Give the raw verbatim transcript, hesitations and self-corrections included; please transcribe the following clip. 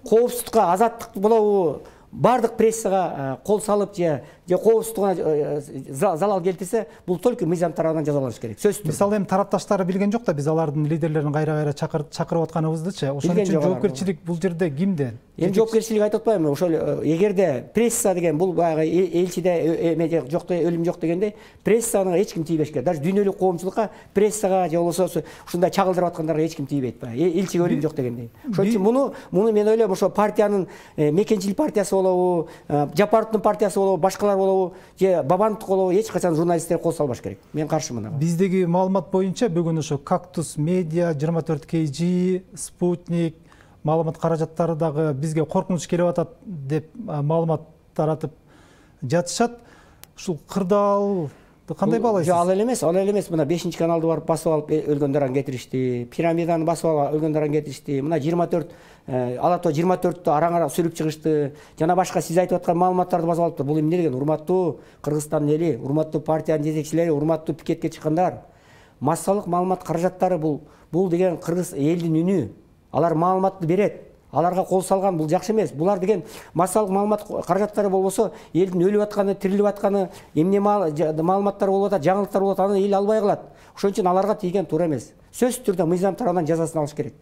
коопсуздукка, азаттык болобу, бардык прессага кол салып же же коопсуздугуна залал келтирсе, бул только мыйзам тарабынан жазаланыш керек. Сөзсүз. Мисалы эми тарапташтары билген жок да биз алардын лидерлерин кайра-кайра чакырып атканыбыздычы. Ошон үчүн жоопкерчилик бул жерде кимде? Эми жоопкерчилик айтып атпаймынбы? Ошол эгерде пресса деген бул баягы элчиде эме жок, өлүм жок дегенде, прессаны эч ким тийбеш керек. Даже дүйнөлүк коомчулукка, прессага же болбосо ушундай чагылдырып аткандарга эч ким тийбейт. Элчиге өлүм жок дегендей. Ошон үчүн муну муну мен ойлойм, ошо партиянын Мекенчил партиясы болобу, Жапаровдун партиясы болобу, башкалар болобу, же Бабановдук болобу, эч качан журналисттер кол салбаш керек. Мен каршымын ага. Биздеги маалымат боюнча бүгүн ошо Кактус Медиа, жыйырма төрт кей жи, Спутник маалымат каражаттары дагы бизге коркунуч келип атат деп маалымат таратып жатышат. Ушул кырдаал кандай баалайсыз? Ал эле эмес, ал эле эмес. Мына бешинчи каналды барып басып алып өлгөндөрүн кетиришти. Пирамиданы басып алып өлгөндөрүн кетиришти. Мына жыйырма төрт ала то жыйырма төрттү араң-араң сүрүп чыгышты. Жана башка сиз айтып аткан маалыматтарды басып алыптыр. Бул эмне деген? Урматтуу Кыргызстандын эли, урматтуу партиянын жетекчилери, урматтуу пикетке чыккандар. Массалык маалымат каражаттары бул бул деген кыргыз элдин үнү. Алар маалыматты берет. Аларга кол салган бул жакшы эмес. Булар деген массалык маалымат каражаттары болбосо, элдин өлүп атканы, тирилип атканы, эмне маалыматтар болуп атат, жаңылыктар болуп атат, аны эл албай калат. Ошон үчүн аларга тийген туура эмес. Сөзсүз түрдө мыйзам тарабынан жазасын алыш керек.